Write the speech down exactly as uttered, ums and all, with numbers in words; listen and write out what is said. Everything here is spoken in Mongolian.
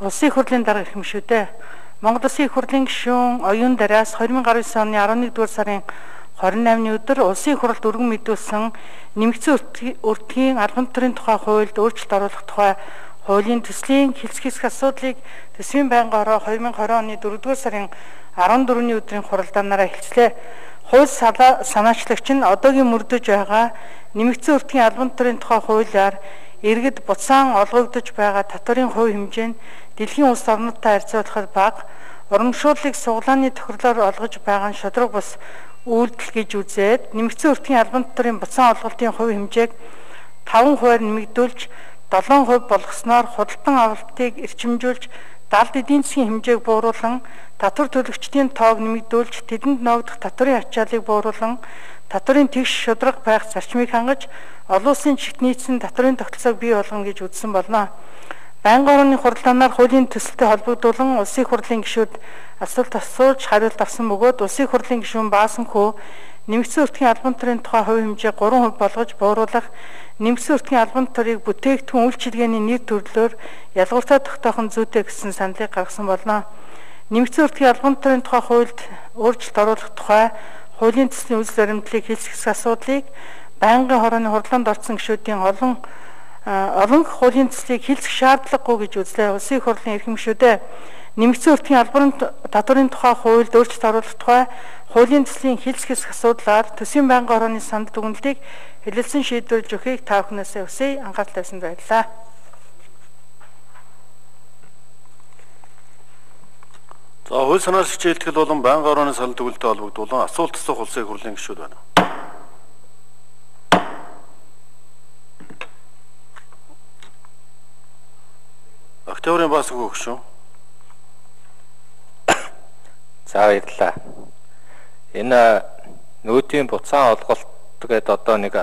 Улсын их хурлын дарга гишүүдэд Монгол Улсын их хурлын гишүүн оюун дараас две тысячи девятнадцать оны eleven-р сарын двадцать eighны өдөр Улсын их хурлд өргөн мэдүүлсэн нэмэгдсэн өртгийн албан тушаалын тухай хуульд өөрчлөлт оруулах тухай хуулийн төслийн хэлц хэсэг асуудлыг төсвийн байнгын хороо две тысячи twenty оны дөрөвдүгээр сарын fourны өдрийн хуралдаанаараа хэлцлээ. Хууль санаачлагч нь одоогийн мөрдөж байгаа нэмэгдсэн өртгийн албан тушаалын тухай хуулиар иргэд буцаан олгогдож байгаа татварын хувь хэмжээ нь дэлхийн улс орнуудтай харьцуулахад бага, урамшууллыг суглааны тохирлоор олгож байгаа нь шудраг бус үйлдэл гэж үзээд нэмэгдсэн өртгийн албан тушаалын буцаан олголтын хувь хэмжээг five хувиар нэмэгдүүлж seven хувь болгосноор худалдан авалтыг эрчимжүүлж далд эдийн засгийн хэмжээг бууруулан татвар төлөгчдийн тоог нэмэгдүүлж тэдэнд ногдох татварын ачааллыг бууруулан татварын тэгш шудраг байх зарчмыг хангаж олон улсын чигт нийцсэн татварын тогтолцоог бий болгоно гэж үзсэн болно. Байнгын орны хуралдаанаар хуулийн төсөлтэй холбогдуулан улсын их хурлын гишүүд асуулт асууж хариулт авсан бөгөөд улсын их хурлын гишүүн Баасанхүү нэмэгдсэн өртгийн албан тушаалын тухай хувь хэмжээ three хувь болгож бууруулах, нэмэгдсэн өртгийн албан тушаалыг бүтээгдэхүүн үйлчилгээний нэр төрлөөр ялгууртаа тогтоох нь зүйтэй гэсэн саналыг гаргасан болно. Нэмэгдсэн өртгийн албан тушаалын тухай хуульд өөрчлөлт оруулах тухай хуулийн төслийн үйл баримтлалыг хэлцэх асуудлыг байнгын хорооны хурлаанд орсон гишүүдийн олон олон хуулийн төслийг хэлцэх шаардлагагүй гэж үзлээ. Улсын их хурлын эрхэм гишүүдэд нэмэгдсэн өртгийн албан татварын тухай хуульд өөрчлөлт оруулах тухай хуулийн төслийн хэлцэх асуудлаар төсвийн байнгын хорооны санд дүгнэлтийг хэлэлцэн шийдвэрлэж өгөхийг та бүхнээсээ хүсье. Анхаарал тавьсанд баярлалаа. За хууль санаалагч хэлтгэл болон байнгын хорооны санд дүгнэлттэй холбогдуулан асуулт асуух улсын их хурлын гишүүд байна. Октябрийн Баасанхүү гишүүн. За баярлалаа. Энэ нөөтийн буцаан олголт гэдэг одоо нэг